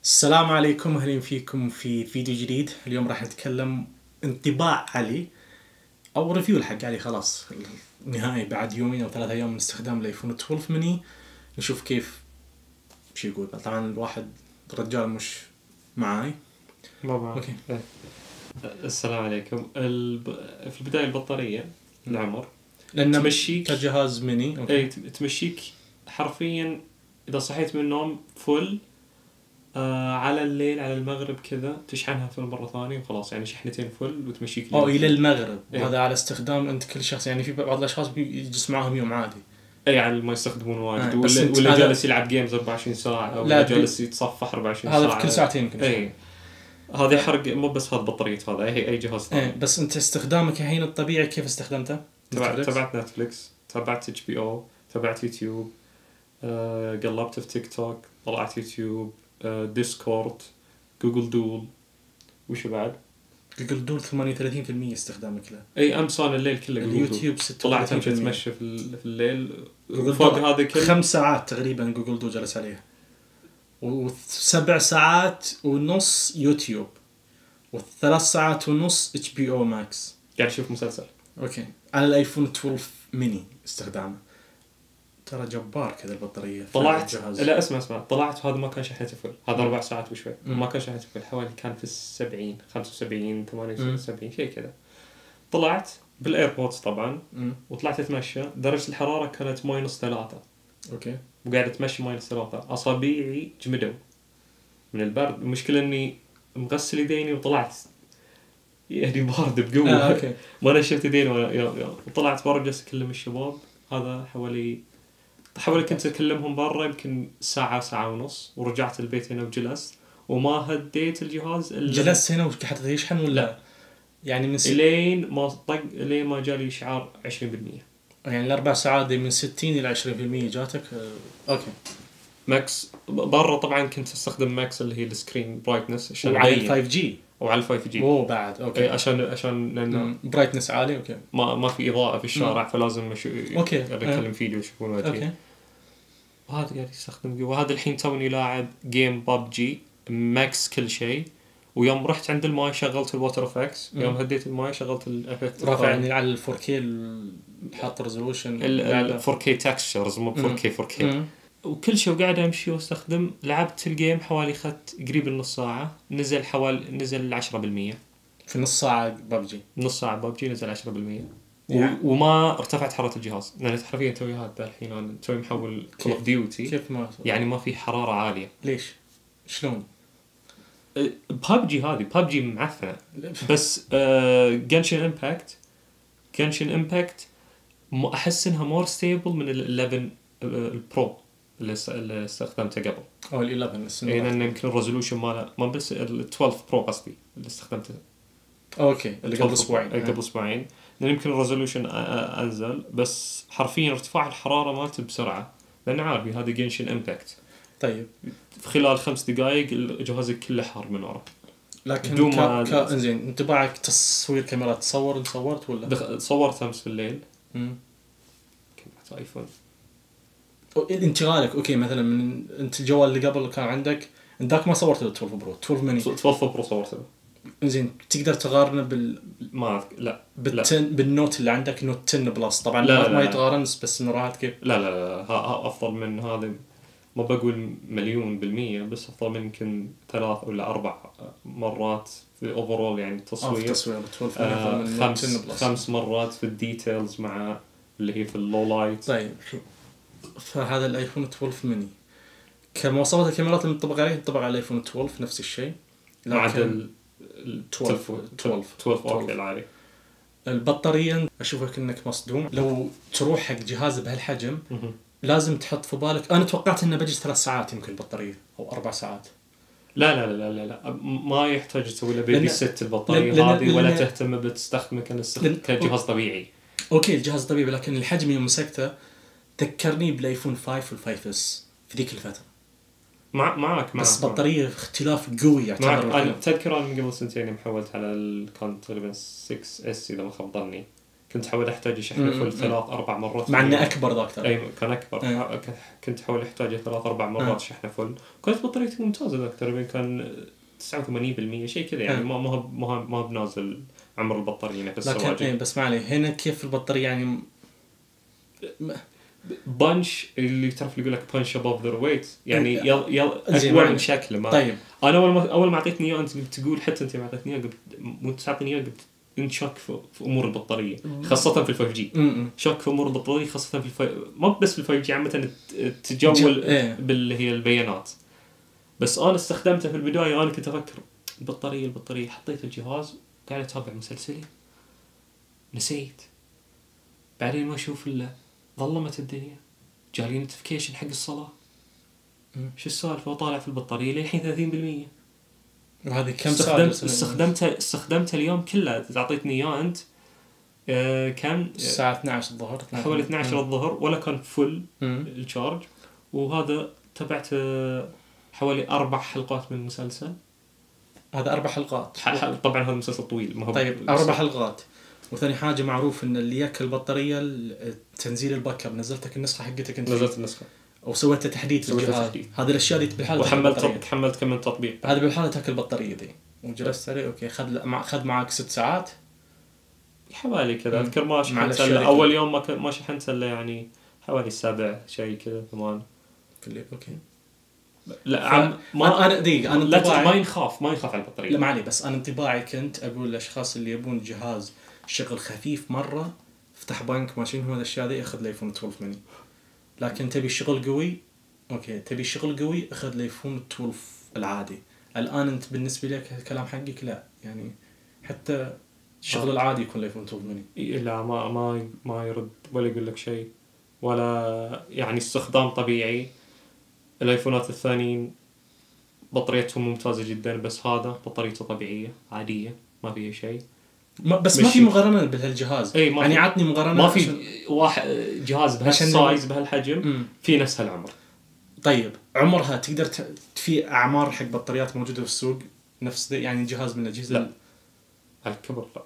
السلام عليكم، اهلا فيكم في فيديو جديد. اليوم راح نتكلم انطباع علي او ريفيو حق علي. خلاص نهائي بعد يومين او 3 ايام من استخدام الايفون 12 ميني. نشوف كيف شو يقول. طبعا الواحد الرجال مش معاي. بابا اوكي. السلام عليكم. في البداية البطارية العمر لان تمشيك كجهاز ميني. اوكي. اي تمشيك حرفيا اذا صحيت من النوم فل على الليل على المغرب كذا تشحنها فل مرة ثانية وخلاص، يعني شحنتين فل وتمشيك الى المغرب. إيه. وهذا على استخدام انت كل شخص، يعني في بعض الاشخاص بيجلس معاهم يوم عادي. اي يعني ما يستخدمون واجد بس ولا جالس يلعب جيمز 24 ساعة او لا، جالس يتصفح 24 ساعة. هذا في كل ساعتين يمكن. اي هذا يحرق مو بس هذا بطارية، هذا اي جهاز ثاني. بس انت استخدامك الحين الطبيعي كيف استخدمته؟ تابعت نتفليكس، تابعت HBO، تابعت يوتيوب، قلبت في تيك توك، طلعت يوتيوب، ديسكورد، جوجل دول، وش بعد؟ جوجل دول 38% استخدامك له. اي امس انا الليل كله اليوتيوب 36%. طلعت امشي اتمشى في الليل فوق هذا كله 5 ساعات تقريبا جوجل دول جلس عليها، و7 ساعات ونص يوتيوب، و3 ساعات ونص HBO ماكس. قاعد اشوف مسلسل. اوكي. على الايفون 12 ميني استخدامه ترى جبار كذا البطارية. طلعت لا اسمع طلعت هذا ما كان شحنته فل، هذا 4 ساعات وشوي. ما كان شحنته فل، حوالي كان في 70 75 78 شيء كذا. طلعت بالايربودز طبعا وطلعت اتمشى، درجة الحرارة كانت -3. اوكي. وقاعد اتمشى -3، اصابعي جمدوا من البرد. المشكلة اني مغسل يديني وطلعت يعني بارد بقوة. اوكي. ما نشفت يديني وطلعت برا جلست اكلم الشباب. هذا حوالي كنت اكلمهم برا يمكن ساعة ونص، ورجعت البيت هنا وجلست وما هديت الجهاز جلست هنا حتى يشحن ولا لا. يعني من لين ما طق لين ما جالي اشعار 20%. يعني ال4 ساعات دي من 60 إلى 20% جاتك. اوكي. ماكس برا طبعا كنت استخدم ماكس اللي هي السكرين برايتنess عشان وعلى 5G وعلى 5G. اوه بعد. اوكي. عشان لانه برايتنس عالي. اوكي. ما في اضاءة في الشارع فلازم اوكي اكلم فيديو يشوفون وجهي. اوكي. وهذا قاعد يستخدم وهذا الحين توني لاعب جيم بابجي ماكس كل شيء. ويوم رحت عند الماي شغلت الواتر افكس، يوم هديت الماي شغلت الافكت رافعني على ال 4K حاط ريزولوشن ال 4K تكستشرز مو 4K. وكل شيء وقاعد امشي واستخدم. لعبت الجيم حوالي خدت قريب النص ساعة، نزل 10%. في نص ساعة بابجي. نص ساعة بابجي نزل 10%. وما ارتفعت حرارة الجهاز، لأن حرفيا توي هذا الحين أنا توي محول كول اوف ديوتي. كيف ما يعني ما في حرارة عالية. ليش؟ شلون؟ بابجي معفنة. بس جنشن امباكت احس انها مور ستيبل من ال11 البرو اللي استخدمته قبل. او ال11 لان يمكن الريزولوشن ماله ما بس ال12 برو قصدي اللي استخدمته. اوكي. اللي قبل اسبوعين لان يمكن الريزولوشن انزل، بس حرفيا ارتفاع الحرارة مالته بسرعة لان عارف هذا جنشن امباكت. طيب في خلال 5 دقائق الجهاز كله حار من ورا. لكن انزين انطباعك تصوير كاميرات صورت ولا؟ صورت امس في الليل. كنت ايفون. انتقالك اوكي مثلا من انت الجوال اللي قبل كان عندك ذاك ما صورت ال 12 برو 12 ميني 12 برو صورته. زين تقدر تقارنه لا بالنوت اللي عندك نوت 10 بلس طبعا ما يتقارن بس انه راحت كيف. لا افضل من هذا. ما بقول 100% بس افضل من يمكن 3 ولا 4 مرات في اوفرول يعني تصوير 5 مرات في الديتيلز مع اللي هي في اللو لايت. طيب فهذا الايفون 12 ميني كمواصفات الكاميرات المطبقة عليه ينطبق على الايفون 12 نفس الشيء مع ال 12 اوكي العالي. البطارية اشوفك انك مصدوم. لو تروح حق جهاز بهالحجم لازم تحط في بالك. انا توقعت انه بجي 3 ساعات يمكن البطارية او 4 ساعات. لا ما يحتاج تسوي له بيبي ست البطارية هذه ولا تهتم بتستخدمه كجهاز طبيعي. اوكي الجهاز طبيعي، لكن الحجم يوم مسكته ذكرني بالايفون 5 والفايف اس في ذيك الفترة. معك بس بطارية اختلاف قوي يعتبر. أنا تذكر أنا من قبل 2 سنين محولت على كان تقريبا 6S إذا ما خاب ظني. كنت حاول احتاج اشحنه فل 3-4 مرات مع انه اكبر ذاك ترى. اي كان اكبر. كنت حاول احتاجه 3-4 مرات شحنه فل. كانت بطاريته ممتازه ذاك تقريبا كان 89% شيء كذا يعني ما بنازل عمر البطاريه نفس السواجل. لكن بس ما عليه هنا كيف البطاريه يعني بانش اللي تعرف اللي يقول لك بانش ابوف ذا ويت يعني يلا اكبر من شكله ما. طيب انا اول ما اعطيتني اياه انت تقول حتى انت ما اعطيتني اياه مو تعطيني اياه انشك في امور البطاريه خاصه في ال5G. شك في امور البطاريه خاصه في ما بس في ال5G عامه تتجول باللي هي البيانات. بس انا استخدمته في البدايه. انا كنت افكر البطاريه حطيت الجهاز قاعد اتابع مسلسلي نسيت بعدين ما اشوف الا ظلمت الدنيا جالي نوتيفيكيشن حق الصلاه شو السالفه وطالع في البطاريه للحين 30%. وهذه كم استخدمته اليوم كله تعطيتني اياه انت كان الساعه 12 الظهر حوالي 12 الظهر ولا كان فل الشارج. وهذا تبعت حوالي 4 حلقات من المسلسل. هذا 4 حلقات طبعا هذا مسلسل طويل ما هو طيب 4 حلقات. وثاني حاجه معروف ان اللي ياكل البطاريه تنزيل الباك اب. نزلتك النسخه حقتك انت نزلت النسخه او سويت تحديث الجهاز. هذه الاشياء اللي بالحاله وحملت كم من تطبيق. هذا بالحاله تاكل البطاريه دي وجلست عليه اوكي خذ معك 6 ساعات حوالي كذا. اذكر ما شحنت اول يوم ما شحنت الا يعني حوالي 7 شيء كذا 8 في الليل. اوكي لا انا دقيقه انا لا ما يخاف على البطاريه. لا ما عليه بس انا انطباعي كنت اقول للاشخاص اللي يبون جهاز شغل خفيف مره افتح بنك ماشين هو الاشياء ذي اخذ الايفون 12 مني. لكن تبي شغل قوي اوكي تبي شغل قوي اخذ الايفون 12 العادي. الان انت بالنسبه لك الكلام حقك لا يعني حتى الشغل العادي يكون الايفون 12 مني. لا ما يرد ولا يقول لك شيء ولا يعني استخدام طبيعي. الايفونات الثانيين بطاريتهم ممتازه جدا بس هذا بطاريته طبيعيه عاديه ما فيها شيء. بس ما في مقارنه بهالجهاز يعني عطني مقارنه. ما في واحد جهاز بهالسايز بهالحجم في نفس هالعمر. طيب عمرها تقدر في اعمار حق بطاريات موجوده في السوق نفس يعني جهاز من الاجهزه لا على الكبر لا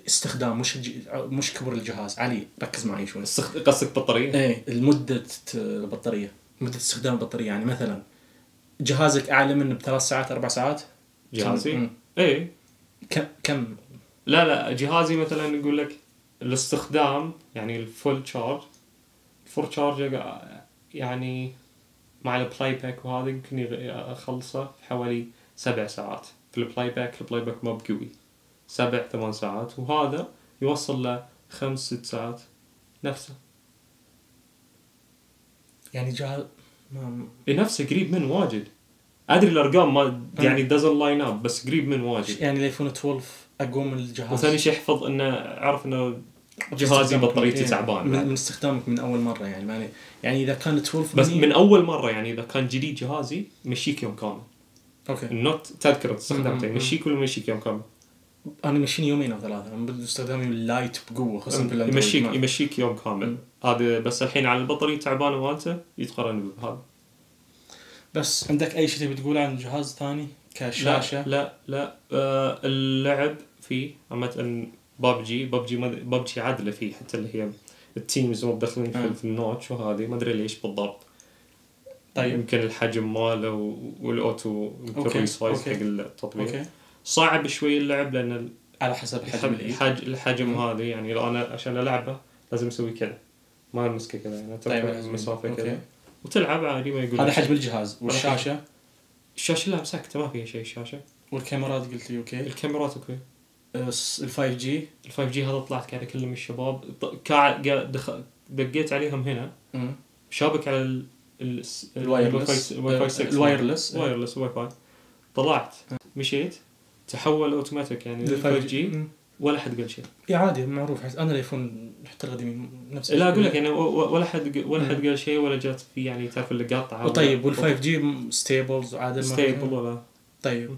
استخدام مش كبر الجهاز. علي ركز معي شوي. قصدك بطاريه ايه المده البطاريه مده استخدام البطاريه يعني مثلا جهازك اعلى منه ب3 ساعات 4 ساعات جهازي ايه كم لا جهازي مثلا يقول لك الاستخدام يعني الفول تشارج يعني مع البلاي باك وهذا يمكن اخلصه في حوالي 7 ساعات في البلاي باك ما بقوي 7-8 ساعات وهذا يوصل ل 5-6 ساعات نفسه يعني جهاز نفسه قريب من واجد. ادري الارقام ما يعني doesn't line up بس قريب من واجد. يعني الايفون 12 اقوى من الجهاز. وثاني شيء احفظ انه عارف انه جهازي بطاريته تعبان من استخدامك من اول مره يعني اذا كان 12 بس من اول مره يعني اذا كان جديد جهازي مشيك يوم كامل. اوكي النوت تذكر استخدامته يمشيك ولا مشيك يوم كامل. انا مشيني 2 أو 3 انا بدي استخدامي اللايت بقوه خاصه في يمشيك يوم كامل. هذا بس الحين على البطاريه تعبانه مالته يتقارن بهذا. بس عندك اي شيء تبي تقوله عن جهاز ثاني كشاشه؟ لا اللعب فيه عامه ببجي عادله فيه حتى اللي هي التيمز مو داخلين في النوتش وهذه ما ادري ليش بالضبط. طيب يمكن الحجم ماله والاوتو يمكن ريسايز حق التطبيق صعب شوي اللعب لان على حسب الحجم هذا يعني لو انا عشان العبه لازم اسوي كذا ما امسكه كذا يعني تبقى مسافه كذا وتلعب عادي ما يقول هذا حجم الجهاز. والشاشه الشاشه لا مسكته ما فيها شيء الشاشه. والكاميرات قلت لي اوكي الكاميرات اوكي. ال5G هذا طلعت قاعد اكلم الشباب دقيت عليهم هنا شابك على الوايرلس واي فاي طلعت مشيت تحول اوتوماتيك يعني ل5G ولا حد قال شيء. عادي معروف انا الايفون حتى القديم نفس لا اقول لك يعني ولا حد قال شيء ولا جات في يعني تعرف اللي قاطعه. طيب وال5G ستيبلز عادل ستيبل ولا طيب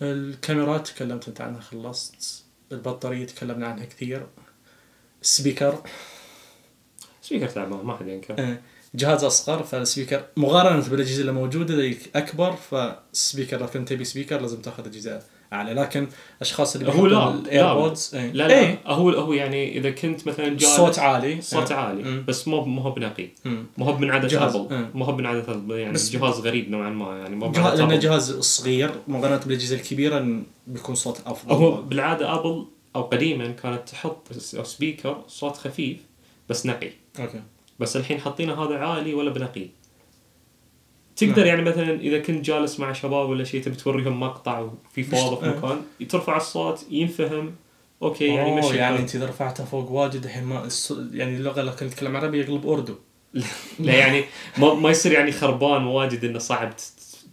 الكاميرات تكلمت انت عنها خلصت. البطاريه تكلمنا عنها كثير. السبيكر تعبان ما حد ينكر. جهاز اصغر فالسبيكر مقارنه بالاجهزه اللي موجوده ذيك اكبر فالسبيكر لو كنت تبي سبيكر لازم تاخذ اجهزه اعلى. لكن اشخاص اللي هو بيحطوا لا الايربودز لا هو يعني اذا كنت مثلا جالس صوت عالي بس مو هو بنقي، مو هو من عدد ابل، مو هو من عدد ابل، يعني جهاز غريب نوعا ما، يعني مو لانه جهاز صغير مقارنه بالاجهزه الكبيره بيكون صوت افضل. هو بالعاده ابل او قديما كانت تحط سبيكر صوت خفيف بس نقي. اوكي. بس الحين حاطينه هذا عالي ولا بنقي. تقدر يعني مثلا اذا كنت جالس مع شباب ولا شيء تبي توريهم مقطع وفي فوضى في مكان، ترفع الصوت ينفهم اوكي يعني مشي. يعني انت اذا رفعتها فوق واجد الحين ما يعني اللغه لو كنت تتكلم عربي يقلب اردو. لا يعني ما يصير يعني خربان واجد انه صعب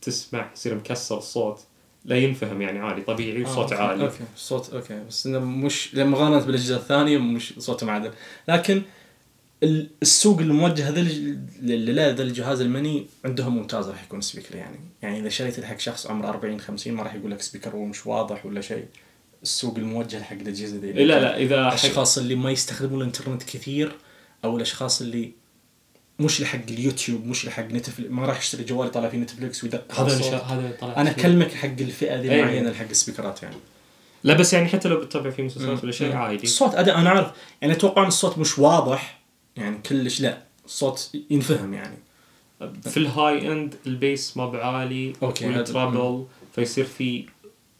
تسمع، يصير مكسر الصوت، لا ينفهم يعني عادي طبيعي وصوت عالي. اوكي صوت اوكي، بس انه مش مقارنه بالاجهزه الثانيه مش صوته معدل. لكن السوق الموجه هذا ذا الجهاز المني عندهم ممتاز راح يكون سبيكر. يعني اذا شريت حق شخص عمره 40 50 ما راح يقول لك سبيكر هو مش واضح ولا شيء. السوق الموجه حق الاجهزه ذي لا اذا الاشخاص اللي ما يستخدمون الانترنت كثير، او الاشخاص اللي مش لحق اليوتيوب مش لحق نتفليكس، ما راح يشتري جوال يطلع فيه نتفليكس ويدق هذا انا اكلمك حق الفئه ذي معينه حق السبيكرات يعني. لا بس يعني حتى لو بتتابع فيه مسلسلات ولا شيء عادي الصوت انا عارف يعني اتوقع ان الصوت مش واضح يعني كلش، لا الصوت ينفهم يعني. في الهاي اند البيس ما بعالي والترابل فيصير في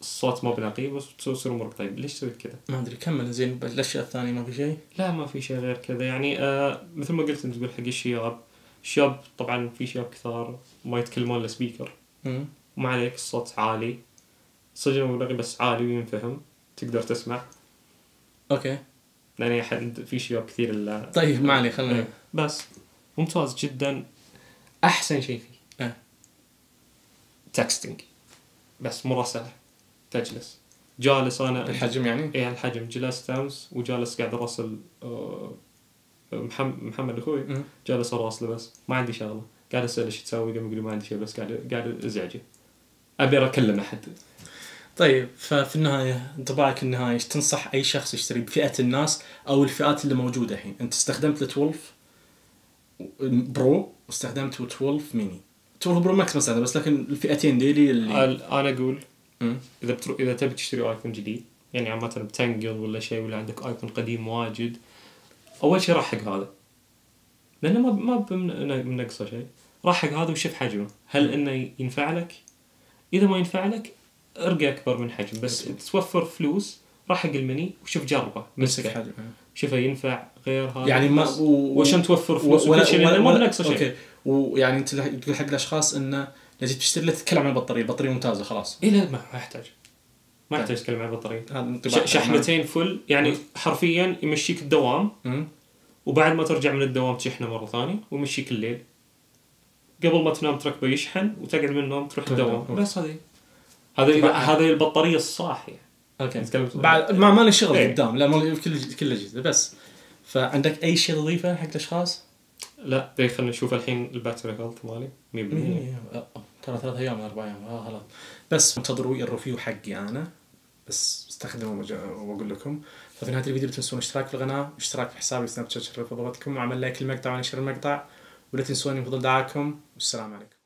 الصوت ما بنقي بس تصير امورك طيب. ليش سويت كذا؟ ما ادري. كمل زين. الاشياء الثانيه ما في شيء؟ لا ما في شيء غير كذا يعني. مثل ما قلت انت تقول حق الشباب طبعا في شباب كثار ما يتكلمون لسبيكر وما عليك الصوت عالي صدق مبلغي بس عالي وينفهم تقدر تسمع. اوكي يعني احد في شباب كثير طيب ما عليه خلنا بس ممتاز جدا. احسن شيء فيه تكستنج بس مراسلة. تجلس جالس انا الحجم يعني ايه الحجم جلست امس وجالس قاعد اراسل محمد اخوي جالس اراسله بس ما عندي شغله قاعد اسال ايش تسوي قام يقول ما عندي شيء بس قاعد ازعجه ابي اكلم احد. طيب ففي النهايه انطباعك النهائي ايش تنصح اي شخص يشتري بفئه الناس او الفئات اللي موجوده الحين؟ انت استخدمت ال 12 برو واستخدمت 12 ميني. 12 برو ماكس مثلا بس لكن الفئتين دي اللي انا اقول اذا تبي تشتري ايفون جديد يعني عامه بتنقل ولا شيء ولا عندك ايفون قديم واجد، اول شيء راح حق هذا لانه ما بنقصه شيء. راح حق هذا وشوف حجمه هل انه ينفع لك. اذا ما ينفع لك ارقى اكبر من حجم بس توفر فلوس. راح حق المني وشوف جربه مسك حجم شوفه ينفع غير هذا يعني ما وعشان توفر فلوس وكل شيء لانه ما بنقصه شيء. اوكي ويعني انت تقول حق الاشخاص انه لازم تشتري له تتكلم عن البطاريه ممتازه خلاص. ايه لا ما يحتاج تتكلم عن البطاريه. شحنتين فل يعني حرفيا يمشيك الدوام وبعد ما ترجع من الدوام تشحنه مره ثانيه ويمشيك الليل قبل ما تنام تركبه يشحن وتقعد من النوم تروح الدوام بس. هذه البطاريه الصح يعني. اوكي بعد ما لي شغل قدام لا ما كل اجهزه بس. فعندك اي شيء تضيفه حق الاشخاص؟ لا خلينا نشوف الحين الباتري هيلث مالي 100% ترى 3 ايام 4 ايام خلاص. بس انتظروا الريفيو حقي انا بس استخدمه واقول لكم. ففي نهايه الفيديو لا تنسون الاشتراك في القناه اشتراك في حسابي سناب شات شرف ضغطكم وعمل لايك المقطع ونشر المقطع ولا تنسوني بفضل دعاكم والسلام عليكم.